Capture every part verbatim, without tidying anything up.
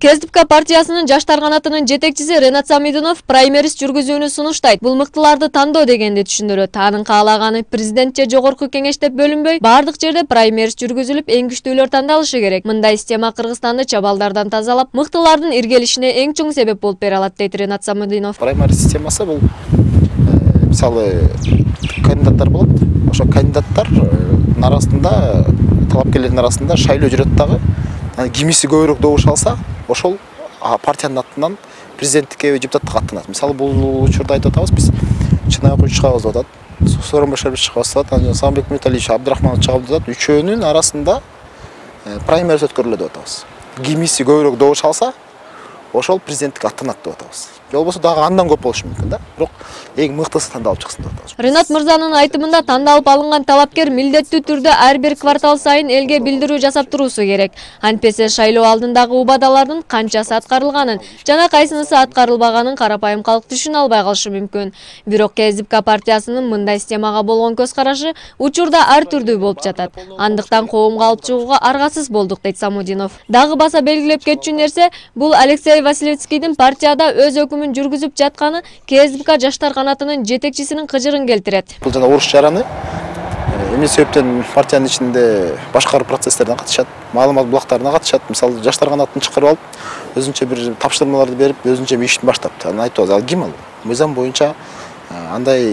КСДП партиясынын жаштар канатынын жетекчиси Ренат Самидунов праймериз жүргүзүүнү сунуштайт. Бул мыктыларды тандоо дегенди түшүндүрөт. Анын каалаганы президент же жогорку кеңеш деп бөлүнбөй, бардык жерде праймериз жүргүзүлүп, эң күчтүүлөр тандалышы керек. Мындай система Кыргызстанды чабалдардан тазалап, мыктылардын иргелишине эң чоң себеп болуп бере алат, дейт Ренат Самидунов. Праймериз системасы бул мисалы кандидаттар болот. Ошо кандидаттардын арасында, талапкерлердин арасында шайлоо жүрөт дагы. Кимиси көбүрөөк добуш алса, ошол партиянын атынан президенттикке депутаттыкка аттанат. Мисалы бул учурда айтып атабыз, биз Чынай Окуч чыгабыз деп атат, Сооронбай Шарипов чыгабыз деп атат, Самбек Мурталиевич, Абдрахманов чыгабыз деп атат. Үчөөнүн арасында праймериз өткөрүлөт деп атабыз. Кимиси көбүрөөк добуш алса, ошол президенттикке аттанат деп атабыз. Же болбосо дагы андан көп болушу мүмкүн да. Бирок эң мыктысы тандалып чыксын деп атабыз. Ренат мырзанын айтымында тандалып алынган талапкер милдеттүү түрдө ар бир квартал сайын элге билдирүү жасап туруусу керек. Антпесе шайлоо алдындагы убадалардын канчасы аткарылганын жана кайсынысы аткарылбаганын карапайым калк түшүнө албай калышы мүмкүн. Бирок КСДП партиясынын мындай системага болгон көз карашы учурда ар түрдүү болуп жатат. Андыктан коомго алып чыгууга аргасыз болдук, дейт Самудинов. Дагы баса белгилеп кетчү нерсе, бул Алексей Василевскийдин партияда өз өкүмүн жүргүзүп жатканы КСДП жаштар канатынын жетекчисинин кыжырын келтирет. Бул жана уруш жараны эмне себептен партиянын ичинде башкаруу процесстерине катышат, маалымат булактарына катышат. Мисалы жаштар канатын чакырып алып, өзүнчө бир тапшырмаларды берип, өзүнчө бир иштин баштапты. Анан айтабыз, ал ким ал? Мыйзам боюнча андай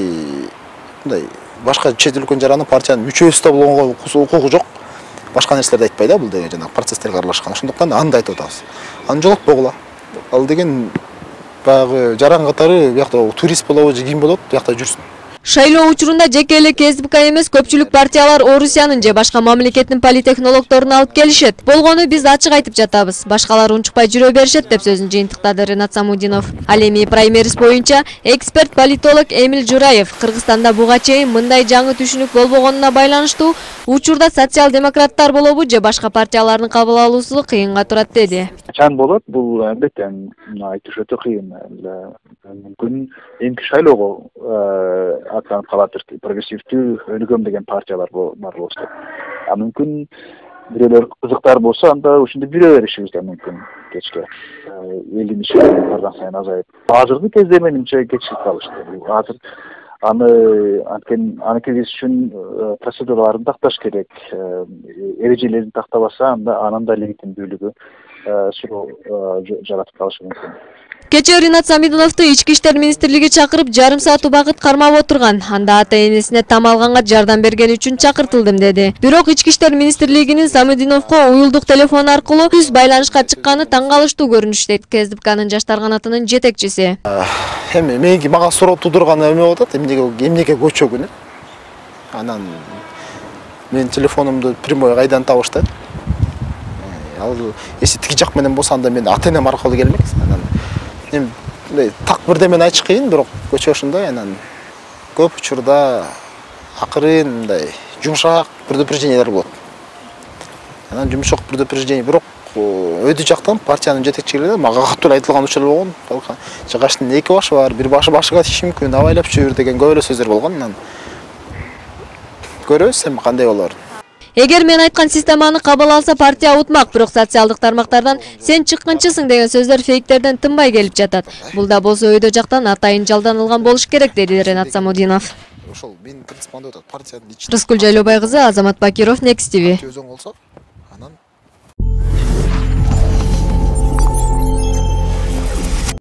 мындай башка чет өлкөнүн жараны партиянын мүчөсү да болгонго укугу жок. Башка нерселерди айтпайт да, бул деген жана процесстерге аралашкан. Ошондуктан аны айтып атабыз. Аны жолотпогула. Ал деген баягы жаран катары биякта турист болобу же ким болот, биякта жүрсүн. Шайлоо учурунда жеке эле КСДП эмес, көпчүлүк партиялар Орусиянын же башка мамлекеттин политехнологдорун алып келишет. Болгону биз ачык айтып жатабыз. Башкалар унчукпай жүрө беришет, деп сөзүн жыйынтыктады Ренат Самудинов. Ал эми праймериз боюнча эксперт политолог Эмил Жураев Кыргызстанда буга чейин мындай жаңы түшүнүк болбогонуна байланыштуу учурда социал-демократтар болобу же башка партиялардын кабыл алуусу кыйынга турат, деди. Качан болот? Бул албетте айтыш өтө кыйын. Мүмкүн эмки шайлоого аттанып калатыр. Прогрессивдүү өнүгөм деген партиялар бар болсо. А мүмкүн бирөөлөр кызыктар болсо, анда ошондо жүрө беришибиз да мүмкүн кечке. Элдин иши барган сайын азайып. Азыркы кезде менимче кечирип калышты. Азыр аны анткени аны киргизиш үчүн процедураларын такташ керек. Эрежелерин тактабаса, анда анын да легитимдүүлүгү суроо жаратып калышы мүмкүн. Кечээ Ренат Самидуновду Ички иштер министрлиги чакырып, жарым саат убакыт кармап отурган. Анда ата-энесине там алганга жардам бергени үчүн чакыртылдым, деди. Бирок Ички иштер министрлигинин Самидуновго уюлдук телефон аркылуу түз байланышка чыкканы таң калыштуу көрүнүш, дейт КСДПнын жаштар канатынын жетекчиси. Эми меники мага суроо туудурган эме болуп атат, эмнеге эмнеге көчөгүн. Анан менин телефонумду прямой кайдан табышты. Ал эси тиги жак менен болсо, анда мен ата-энем аркылуу келмек. Анан эми так бирдемени айтыш кыйын, бирок көчө ошондой. Анан көп учурда акырын мындай жумшак предупреждениялар болот. Анан жумшак предупреждение, бирок өйдү жактан партиянын жетекчилери мага катуу айтылган учурлар болгон. Жыгачтын эки башы бар, бир башы башыга тиши мүмкүн, абайлап жүрүр деген көп эле сөздөр болгон. Анан көрөбүз эми кандай болор. Эгер мен айткан системаны кабыл алса, партия утмак, бирок социалдык тармактардан сен чыккынчысың деген сөздөр фейктерден тынбай келип жатат. Бул да болсо өйдө жактан атайын жалданылган болуш керек, деди Ренат Самудинов. Ошол менин принципимде атат партиянын ичинде. Рыскүл Жайлообай кызы, Азамат Бакиров, Next ти ви.